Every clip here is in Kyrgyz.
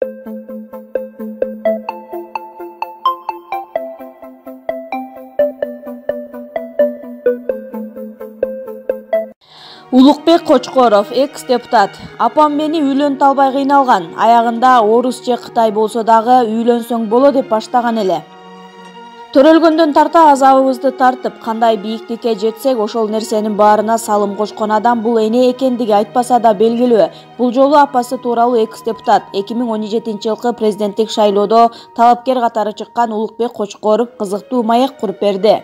Улукбек Кочкоров, экс-депутат. Апам мени үйлөнтө албай кыйналган. Аягында орус же Кытай болсо дагы үйлөнсөң боло деп баштаган эле. Төрөлгөндөн тарта азабыбызды тартып, кандай бийиктикке жетсек, ошол нерсенин баарына салым кошкон адам бул эне экендиги айтпаса да белгилүү. Бул жолу апасы тууралуу экс-депутат 2017-жылкы президенттик шайлоодо талапкер катары чыккан Улукбек Кочкоров кызыктуу маек куруп берди.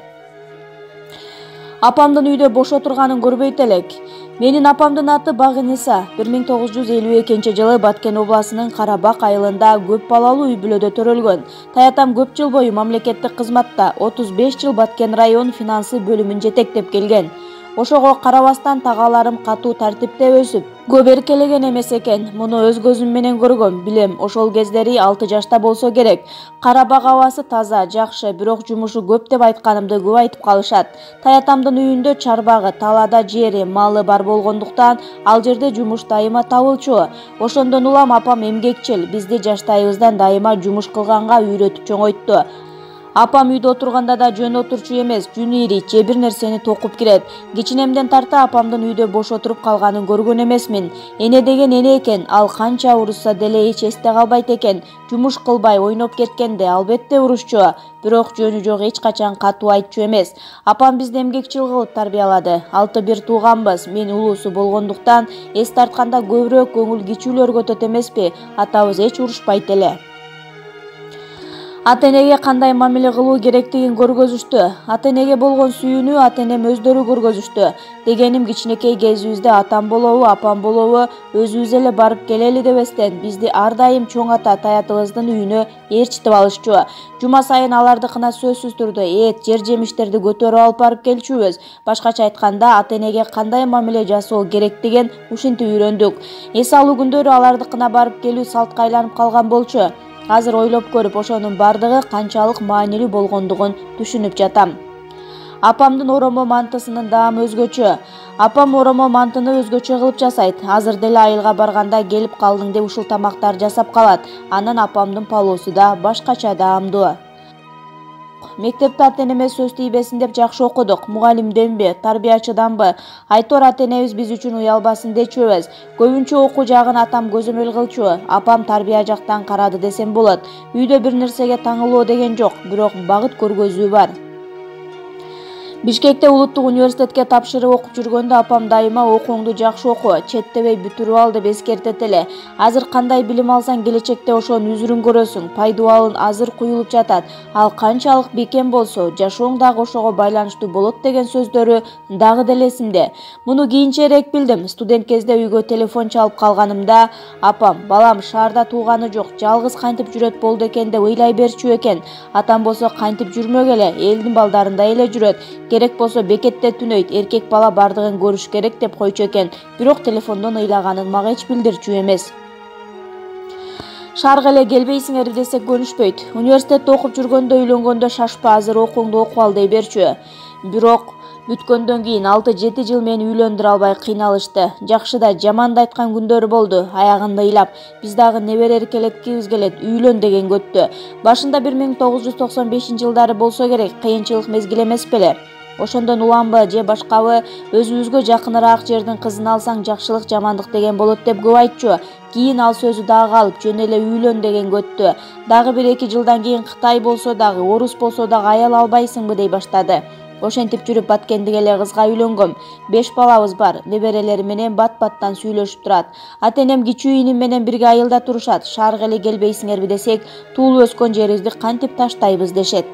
Апамдын үйдө бош отурганын көрбөйт элек. Менин апамдын аты Багыниса. 1952-жылы Баткен областынын Карабак айылында көп балалуу үй-бүлөдө төрөлгөн. Таятам көп жыл бою мамлекеттик кызматта 35 жыл Баткен район финансы бөлүмүн жетектеп келген. Ошого карабастан тагаларым катуу тартипте өсүп, көп эркелеген эмес экен. Муну өз көзүм менен көргөм, билем. Ошол кездери 6 жашта болсо керек. Карабак абасы таза, жакшы, бирок жумушу көп деп айтканымды көп айтып калышат. Таятамдын үйүндө чарбагы, талаада жери, малы бар болгондуктан ал жерде жумуш дайыма табылчу. Ошондон улам апам эмгекчил, бизди жаштайыбыздан дайыма жумуш кылганга үйрөтүп чоңойтту. Апам үйдө отурганда да жөн отурчу эмес, жүнү ирийт же бир нерсени токуп кирет. Кичинемден тарта апамдын үйдө бош отуруп калганын көргөн эмесмин. Эне деген эне экен, ал канча урушса деле эч эсте калбайт экен. Жумуш кылбай ойноп кеткенде албетте урушчу, бирок жөнү жок эч качан катуу айтчу эмес. Апам бизди эмгекчил кылып тарбиялады. 6-1 тууганбыз, мен улуусу болгондуктан эс тартканда көбүрөөк көңүл кичүүлөр көтөт эмеспи? Атабыз эч урушпайт эле. Ата-энеге кандай мамиле кылуу керектигин көргөзүштү. Ата-энеге болгон сүйүүнү ата-энем өздөрү көргөзүштү. Дегеним кичинекей кезибизде атам болобу, апам болобу, өзүбүз эле барып келели дебестен, бизди ар дайым чоң ата таятыбыздын үйүнө ээрчитип алышчу. Жума сайын алардыкына сөзсүз түрдө эт, жер жемиштерди көтөрүп алып барып келчүбүз. Башкача айтканда, ата-энеге кандай мамиле жасоо керектигин ушинтип үйрөндүк. Эс алуу күндөрү алардыкына барып келүү салтка айланып калган болчу. Азыр ойлоп көрүп ошонун бардыгы канчалык маанилүү болгондугун түшүнүп жатам. Апамдын оромо мантысынын даамы өзгөчө. Апам оромо мантыны өзгөчө кылып жасайт. Азыр деле айылга барганда келип калдың деп ушул тамактар жасап калат. Анан апамдын палоосу да башкача даамдуу. Мектепте ата-энеме сөз тийбесин деп жакшы окудук. Мугалимденби, тарбиячыданбы? Айтор ата-энебиз биз үчүн уялбасын дечүбүз. Көбүнчө окуу жагын атам көзөмөл кылчу. Апам тарбия жактан карады десем болот. Үйдө бир нерсеге таңылуу деген жок, бирок багыт көргөзүү бар. Бишкекте улуттук университетке тапшырып окуп жүргөндө апам дайыма окууңду жакшы оку, четтебей бүтүрүп ал деп эскертет эле. Азыр кандай билим алсаң келечекте ошонун үзүрүн көрөсүң. Пайдубалын азыр куюлуп жатат. Ал канчалык бекем болсо, жашооң дагы ошого байланыштуу болот деген сөздөрү дагы деле эсимде. Муну кийинчерээк билдим. Студент кезде үйгө телефон чалып калганымда, апам, балам шаарда тууганы жок, жалгыз кантип жүрөт болду экен деп ыйлай берчү экен. Атам болсо кантип жүрмөк эле, элдин балдарындай эле жүрөт. Керек болсо бекетте түнөйт, эркек бала бардыгын көрүш керек деп койчу экен. Бирок телефондон ыйлаганын мага эч билдирчү эмес. Шаарга эле келбейсиңер десек көнүшпөйт. Университетте окуп жүргөндө үйлөнгөндө шашпа, азыр окууңду окуп ал дей берчү. Бирок бүткөндөн кийин 6-7 жыл мени үйлөндүрө албай кыйналышты. Жакшы да, жаман да айткан күндөрү болду. Аягында ыйлап, биз дагы небере эркелеткибиз келет, үйлөн деген көттү. Башында 1995-жылдары болсо керек, кыйынчылык мезгил эмес беле. Ошондон уламбы же башкабы өзүбүзгө жакыныраак жердин кызын алсаң жакшылык жамандык деген болот деп көп айтчу. Кийин ал сөзү дагы калып, жөн эле үйлөн деген көттү. Дагы 1-2 жылдан кийин Кытай болсо дагы, орус болсо дагы аял албайсыңбы дей баштады. Ошентип жүрүп Баткендик эле кызга үйлөнгөм. 5 балабыз бар. Неберелери менен бат-баттан сүйлөшүп турат. Ата-энем кичүү иним менен бирге айылда турушат. Шаарга эле келбейсиңерби десек, туулуп өскөн жерибизди кантип таштайбыз дешет.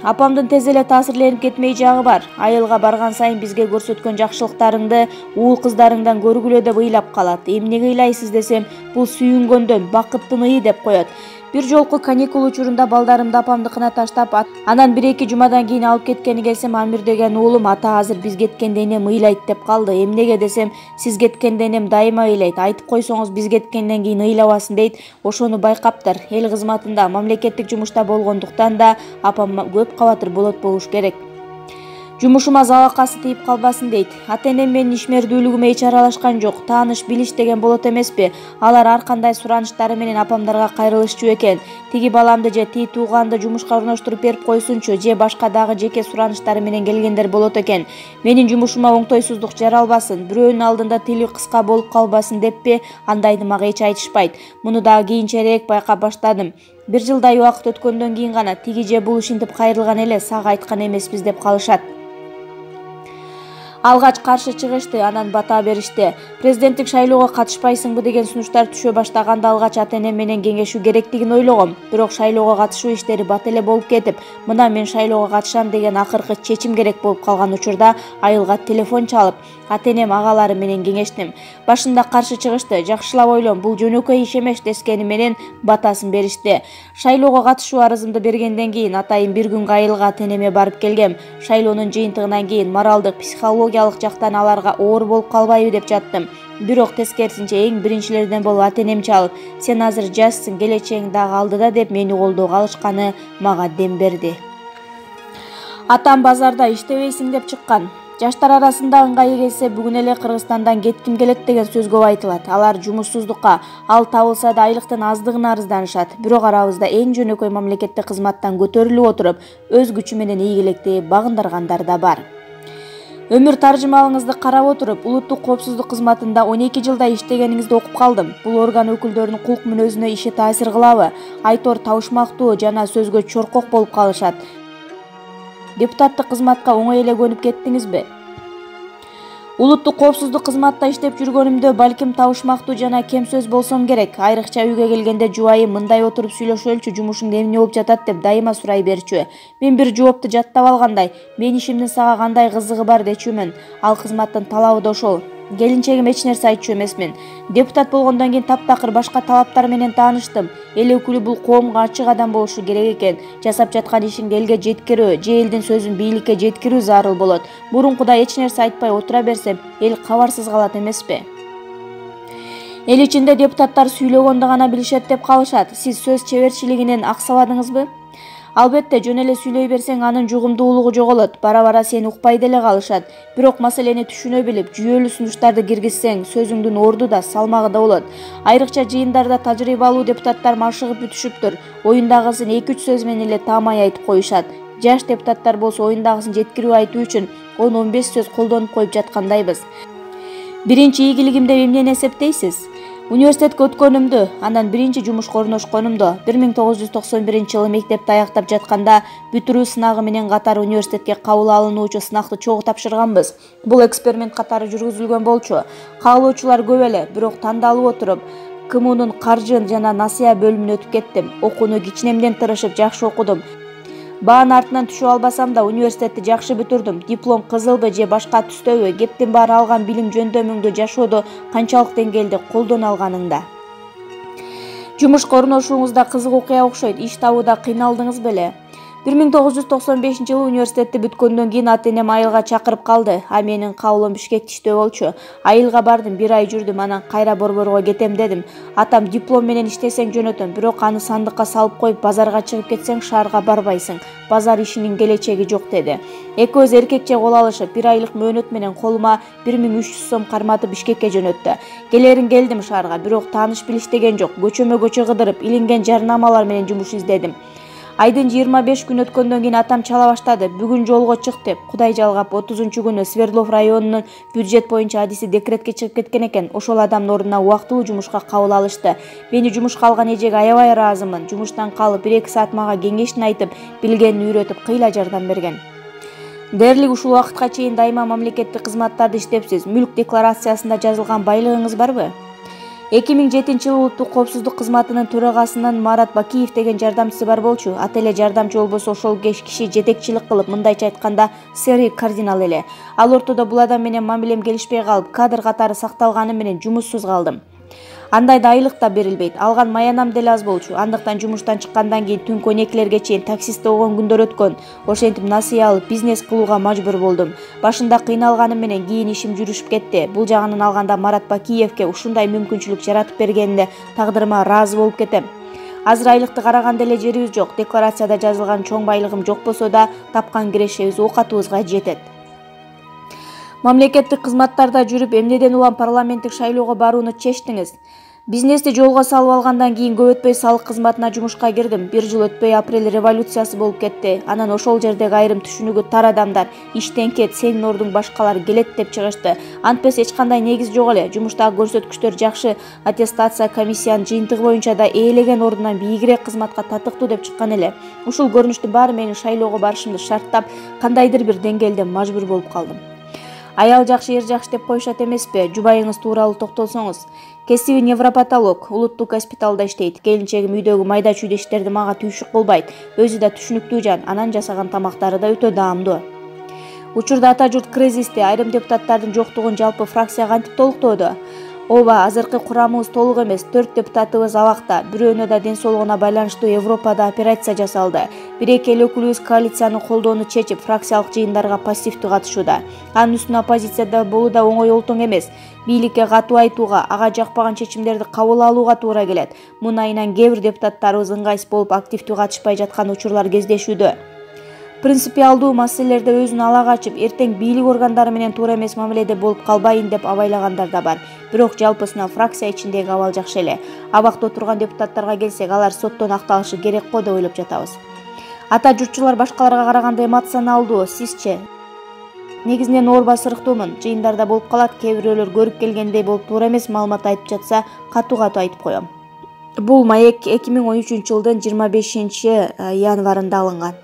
Апамдын тез эле таасирленип кетмей жагы бар. Айылга барган сайын бизге көрсөткөн жакшылыктарыңды уул кыздарыңдан көргүлө деп ыйлап калат. Эмнеге ыйлайсыз десем, бул сүйүнгөндөн, бакыттын ый деп коет. Бир жолку каникул учурунда балдарымды апамдыкына таштап, анан 1-2 жумадан кийин алып кеткени келсем, Амир деген уулум ата азыр биз кеткенде энем ыйлайт деп калды. Эмнеге десем, сиз кеткенде энем дайыма ыйлайт. Айтып койсоңуз биз кеткенден кийин ыйлабасын дейт. Ошону байкаптыр. Эл кызматында, мамлекеттик жумушта болгондуктан да апам көп кабатыр болот болуш керек. Жумушума залакасы тийип калбасын дейт. Ата-энем менин ишмердүүлүгүмө эч аралашкан жок. Тааныш билиш деген болот эмеспи? Алар ар кандай сураныштары менен апамдарга кайрылышчу экен. Тиги баламды же тиги тууганды жумушка орноштуруп берип койсунчу, же башка дагы жеке сураныштары менен келгендер болот экен. Менин жумушума оңтойсуздук жаралбасын, бирөөнүн алдында тили кыска болуп калбасын деппи? Андайды мага эч айтышпайт. Муну дагы кийинчерээк байкап баштадым. 1 жылдай убакыт өткөндөн кийин гана тиги же бул ушинтип кайрылган эле, сага айткан эмеспиз деп калышат. Алгач каршы чыгышты, анан бата беришти. Президенттик шайлоого катышпайсыңбы деген сунуштар түшө баштаганда алгач ата-энем менен кеңешүү керектигин ойлогом. Бирок шайлоого катышуу иштери бат эле болуп кетип, мына мен шайлоого катышам деген акыркы чечим керек болуп калган учурда айылга телефон чалып, ата-энем агалары менен кеңештим. Башында каршы чыгышты, жакшылап ойлон, бул жөнөкөй иш эмес дескени менен батасын беришти. Шайлоого катышуу арызымды бергенден кийин атайын бир күнгө айылга ата-энеме барып келгем. Шайлоонун жыйынтыгынан кийин моралдык, психологиялык жактан аларга оор болуп калбайбы деп жаттым. Бирок тескерисинче эң биринчилерден болуп ата-энем чалып, сен азыр жашсың, келечегиң дагы алдыда деп мени колдоого алышканы мага дем берди. Атам базарда иштебейсиң деп чыккан. Жаштар арасында ыңгайы келсе бүгүн эле Кыргызстандан кетким келет деген сөз көп айтылат. Алар жумушсуздукка, ал табылса да айлыктын аздыгына арызданышат. Бирок арабызда эң жөнөкөй мамлекеттик кызматтан көтөрүлүп отуруп, өз күчү менен ийгиликти багындаргандар да бар. Өмүр таржымалыңызды карап отуруп, улуттук коопсуздук кызматында 12 жылда иштегениңизди окуп калдым. Бул орган өкүлдөрүнүн кулк мүнөзүнө иши таасир кылабы? Айтор табышмактуу жана сөзгө чоркок болуп калышат. Депутаттык кызматка оңой эле көнүп кеттиңизби? Улуттук коопсуздук кызматта иштеп жүргөнүмдө балким табышмактуу жана кем сөз болсом керек. Айрыкча үйгө келгенде жубайым мындай отуруп сүйлөшөлчү, жумушуң эмне болуп жатат деп дайыма сурай берчү. Мен бир жоопту жаттап алгандай, мен ишимдин сага кандай кызыгы бар дечүмүн. Ал кызматтын талабы да ошол. Келинчегим эч нерсе айтчу эмесмин. Депутат болгондон кийин таптакыр башка талаптар менен тааныштым. Эл өкүлү бул коомго ачык адам болушу керек экен. Жасап жаткан ишиңди элге жеткирүү, же элдин сөзүн бийликке жеткирүү зарыл болот. Мурункудай эч нерсе айтпай отура берсем, эл кабарсыз калат эмеспи? Эл ичинде депутаттар сүйлөгөндө гана билишет деп калышат. Сиз сөз чеберчилигинен аксабадыңызбы? Албетте, жөн эле сүйлөй берсең анын жугумдуулугу жоголот, бара-бара сени укпай деле калышат. Бирок маселени түшүнө билип, жүйөлүү сунуштарды киргизсең, сөзүңдүн орду да, салмагы да болот. Айрыкча жыйындарда тажрыйбалуу депутаттар машыгып бүтүшүптүр. Оюндагысын 2-3 сөз менен эле таамай айтып коюшат. Жаш депутаттар болсо оюндагысын жеткирип айтуу үчүн 10-15 сөз колдонуп коюп жаткандайбыз. Биринчи ийгилигим деп эмнени эсептейсиз? Университетке өткөнүмдү, андан биринчи жумушка орношконумду, 1991-жылы мектепти аяктап жатканда бүтүрүү сынагы менен катар университетке кабыл алынуучу сынакты чогуу тапшырганбыз. Бул эксперимент катары жүргүзүлгөн болчу. Каалоочулар көп эле, бирок тандалып отуруп, КМУнун каржы жана насыя бөлүмүнө өтүп кеттим. Окууну кичинемден тырышып жакшы окудум. Баанын артынан түшүп албасам да университетти жакшы бүтүрдүм. Диплом кызылбы же башка түстөбү, кептин баары алган билим жөндөмүңдү жашоодо канчалык деңгээлде колдоно алганыңда. Жумушка орношууңузда кызык окуя окшойт, иш табууда кыйналдыңыз беле? 1995-жылы университетти бүткөндөн кийин ата-энем айылга чакырып калды. А менин кабылым Бишкекте иштөө болчу. Айылга бардым, 1 ай жүрдүм, анан кайра борборго кетем дедим. Атам диплом менен иштесең жөнөтөм, бирок аны сандыкка салып коюп базарга чыгып кетсең шаарга барбайсың. Базар ишинин келечеги жок деди. Экөөбүз эркекче кол алышып, 1 айлык мөөнөт менен колума 1300 сом карматып Бишкекке жөнөттү. Келерин келдим шаарга, бирок тааныш билиш деген жок. Көчөмө-көчө кыдырып, илинген жарнамалар менен жумуш издедим. Айдын 25 күн өткөндөн кийин атам чала баштады. Бүгүн жолго чык деп. Кудай жалгап 30-күнү Свердлов районунун бюджет боюнча адиси декретке чыгып кеткен экен. Ошол адамдын ордуна убактылуу жумушка кабыл алышты. Мени жумушка алган эжеге аябай ыраазымын. Жумуштан калып 1-2 саат мага кеңешин айтып, билгенин үйрөтүп, кыйла жардам берген. Дээрлик ушул убакытка чейин дайыма мамлекеттик кызматтарды иштепсиз. Мүлк декларациясында жазылган байлыгыңыз барбы? 2007-жылы улуттук коопсуздук кызматынын төрагасынын Марат Бакиев деген жардамчысы бар болчу. Ата эле жардамчы болбосо ошол киши жетекчилик кылып, мындайча айтканда, сери кардинал эле. Ал ортодо бул адам менен мамилем келишпей калып, кадр катары сакталганы менен жумушсуз калдым. Андайда айлык да берилбейт. Алган маянам деле аз болчу. Андыктан жумуштан чыккандан кийин түнкү 12-лерге чейин таксистте болгон күндөр өткөн. Ошентип насыя алып бизнес кылууга мажбур болдум. Башында кыйналганым менен кийин ишим жүрүшүп кетти. Бул жагынан алганда Марат Бакиевке ушундай мүмкүнчүлүк жаратып бергенине тагдырыма ыраазы болуп кетем. Азыр айлыкты караганда эле жерибиз жок. Декларацияда жазылган чоң байлыгым жок болсо да тапкан кирешебиз оокатыбызга жетет. Мамлекеттик кызматтарда жүрүп эмнеден улам парламенттик шайлоого барууну чечтиңиз? Бизнести жолго салып алгандан кийин көп өтпөй салык кызматына жумушка кирдим. 1 жыл өтпөй апрель революциясы болуп кетти. Анан ошол жердеги айрым түшүнүгү тар адамдар иштен кет, сенин ордуң башкалар келет деп чыгышты. Антпес эч кандай негиз жок эле. Жумуштагы көрсөткүчтөр жакшы. Аттестация комиссиянын жыйынтыгы боюнча да ээлеген ордунан бийигирээк кызматка татыктуу деп чыккан эле. Ушул көрүнүштүн баары менин шайлоого барышымды шарттап, кандайдыр бир деңгээлде мажбур болуп калдым. Аял жакшы, эр жакшы деп коюшат эмеспи? Жубайыңыз тууралуу токтолсоңуз. Кесиби невропатолог, улуттук госпиталда иштейт. Келинчегим үйдөгү майда чүйдө иштерди мага түйшүк кылбайт. Өзү да түшүнүктүү жан, анан жасаган тамактары да өтө даамдуу. Учурда ата журт кризисте, айрым депутаттардын жоктугун жалпы фракция кантип толуктоодо? Ооба, азыркы курамыбыз толук эмес, 4 депутатыбыз абакта. Бирөөнө да ден соолугуна байланыштуу Европада операция жасалды. 1-2 эл өкүлүбүз коалицияны колдоону чечип, фракциялык жыйындарга пассивдүү катышууда. Анын үстүнө оппозицияда болуу да оңой олтоң эмес. Бийликке катуу айтууга, ага жакпаган чечимдерди кабыл алууга туура келет. Мунун айынан кээ бир депутаттарыбыз ыңгайсыз болуп активдүү катышпай жаткан учурлар кездешүүдө. Принципиалдуу маселелерде өзүн ала качып, эртең бийлик органдары менен туура эмес мамиледе болуп калбайын деп абайлагандар да бар. Бирок жалпысынан фракция ичиндеги абал жакшы эле. Абакта отурган депутаттарга келсек, алар соттон акталышы керек го деп ойлоп жатабыз. Ата журтчулар башкаларга караганда эмоционалдуу, сизчи? Негизинен оорба сырыктуумун. Жыйындарда болуп калат, кээ бирөөлөр көрүп келгендей болуп туура эмес маалымат айтып жатса, катуу айтып коем. Бул маек 2013 жылдын 25 январында алынган.